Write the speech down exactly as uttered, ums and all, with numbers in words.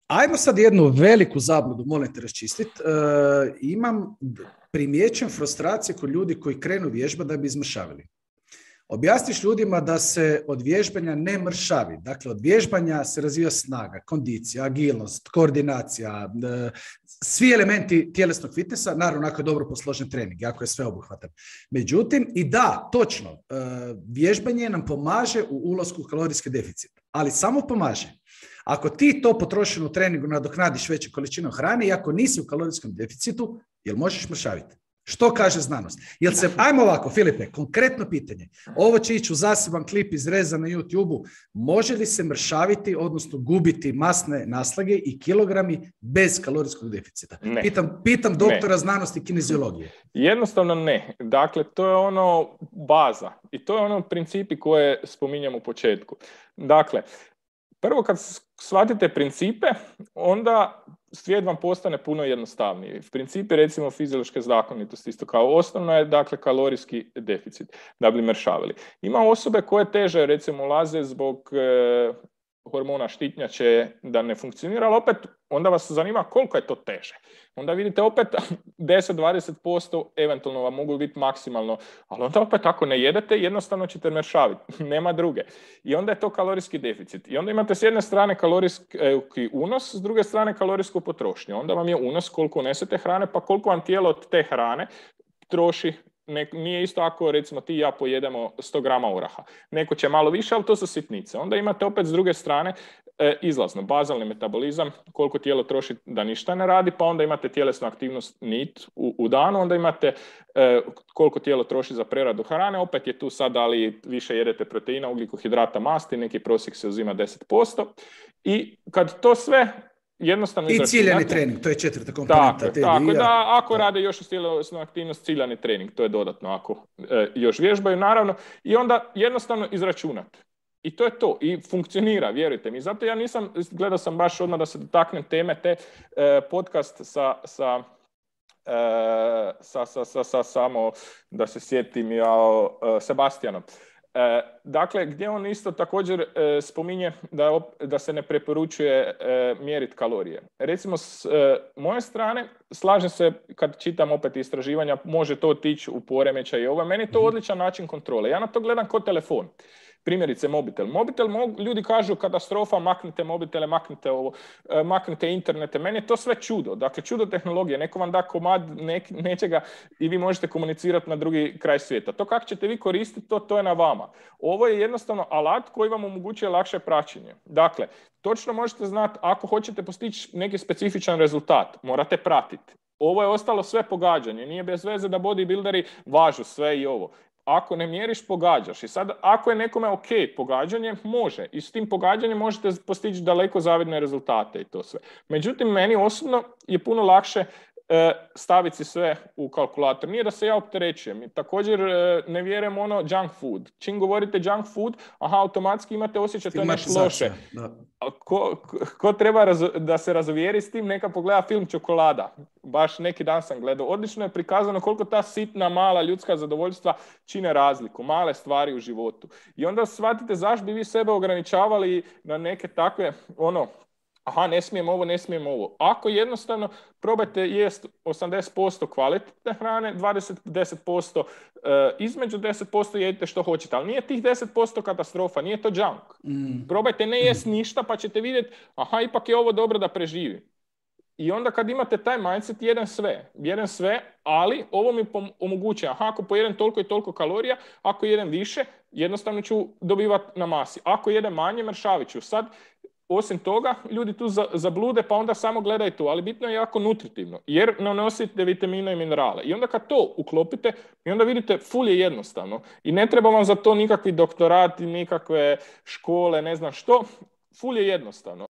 Ajmo sad jednu veliku zabludu, molim te raščistiti. E, imam primjećen frustracije kod ljudi koji krenu vježba da bi izmršavili. Objasniš ljudima da se od vježbanja ne mršavi. Dakle, od vježbanja se razvija snaga, kondicija, agilnost, koordinacija, e, svi elementi tjelesnog fitnessa, naravno ako je dobro posložen trening, ako je sve obuhvatan. Međutim, i da, točno, e, vježbanje nam pomaže u ulasku u kalorijski deficit, ali samo pomaže. Ako ti to potrošeno u treningu nadoknadiš veću količinu hrane i ako nisi u kalorijskom deficitu, jel možeš mršaviti? Što kaže znanost? Jel se, ajmo ovako, Filipe, konkretno pitanje. Ovo će ići u zaseban klip izreza na YouTube-u. Može li se mršaviti, odnosno gubiti masne naslage i kilogrami bez kalorijskog deficita? Ne. Pitam, pitam doktora ne. znanosti i kineziologije. Jednostavno ne. Dakle, to je ono baza. I to je ono principi koje spominjem u početku. Dakle, prvo kad shvatite principe, onda svijet vam postane puno jednostavniji. Principi, recimo, fiziološke zakonitosti, isto kao osnovno je, dakle, kalorijski deficit, da bi mršavili. Ima osobe koje teže, recimo, ulaze zbog e, hormona štitnjače da ne funkcionira, ali opet onda vas zanima koliko je to teže. Onda vidite opet deset do dvadeset posto eventualno vam mogu biti maksimalno, ali onda opet ako ne jedete, jednostavno ćete mršaviti. Nema druge. I onda je to kalorijski deficit. I onda imate s jedne strane kalorijski unos, s druge strane kalorijsku potrošnju. Onda vam je unos koliko unesete hrane, pa koliko vam tijelo od te hrane troši. Ne, nije isto ako recimo ti i ja pojedemo sto grama oraha. Neko će malo više, ali to su sitnice. Onda imate opet s druge strane e, izlazno, bazalni metabolizam, koliko tijelo troši da ništa ne radi, pa onda imate tjelesnu aktivnost N I T u, u danu, onda imate e, koliko tijelo troši za preradu hrane, opet je tu sad da li više jedete proteina, ugljikohidrata, masti, neki prosjek se uzima deset posto. I kad to sve jednostavno i ciljani trening, to je četvrta komponenta. Tako, tako da ako rade još uz tjelesnu aktivnost, ciljani trening, to je dodatno ako e, još vježbaju, naravno, i onda jednostavno izračunati. I to je to. I funkcionira, vjerujte mi. Zato ja nisam, gledao sam baš odmah da se dotaknem teme, te e, podcast sa, sa, e, sa, sa, sa, sa samo, da se sjetim ja, e, Sebastianom. E, dakle, gdje on isto također e, spominje da, da se ne preporučuje e, mjeriti kalorije. Recimo, s e, moje strane, slažem se kad čitam opet istraživanja, može to otići u poremećaj i ovo. Meni je to odličan način kontrole. Ja na to gledam kao telefon. Primjerice, mobitel. Mobitel, mogu, ljudi kažu katastrofa, maknite mobitele, maknite ovo, e, maknite internete. Meni je to sve čudo. Dakle, čudo tehnologije. Neko vam da komad nek, nečega i vi možete komunicirati na drugi kraj svijeta. To kako ćete vi koristiti, to, to je na vama. Ovo je jednostavno alat koji vam omogućuje lakše praćenje. Dakle, točno možete znati, ako hoćete postići neki specifičan rezultat, morate pratiti. Ovo je ostalo sve pogađanje. Nije bez veze da bodybuilderi važu sve i ovo. Ako ne mjeriš, pogađaš. I sad, ako je nekome ok pogađanje, može. I s tim pogađanjem možete postići daleko zavidne rezultate i to sve. Međutim, meni osobno je puno lakše e, staviti si sve u kalkulator. Nije da se ja opterećujem. I također e, ne vjerujem ono junk food. Čim govorite junk food, aha, automatski imate osjećaj to je nešto loše. Ko, ko, ko treba raz, da se razuvjeri s tim, neka pogleda film Čokolada. Baš neki dan sam gledao. Odlično je prikazano koliko ta sitna, mala ljudska zadovoljstva čine razliku. Male stvari u životu. I onda shvatite zašto bi vi sebe ograničavali na neke takve, ono, aha, ne smijem ovo, ne smijem ovo. Ako jednostavno probajte jest osamdeset posto kvalitetne hrane, dvadeset do deset posto e, između deset posto jedite što hoćete. Ali nije tih deset posto katastrofa, nije to junk. Mm. Probajte ne jest ništa pa ćete vidjeti, aha, ipak je ovo dobro da preživim. I onda kad imate taj mindset, jedem sve. Jedem sve, ali ovo mi omogućuje, aha, ako pojedem toliko i toliko kalorija, ako jedem više, jednostavno ću dobivati na masi. Ako jedem manje, mršavit ću. Sad, osim toga, ljudi tu zablude, pa onda samo gledaju to, ali bitno je jako nutritivno, jer ne nosite vitamine i minerale. I onda kad to uklopite, i onda vidite, ful je jednostavno. I ne treba vam za to nikakvi doktorati, nikakve škole, ne znam što, ful je jednostavno.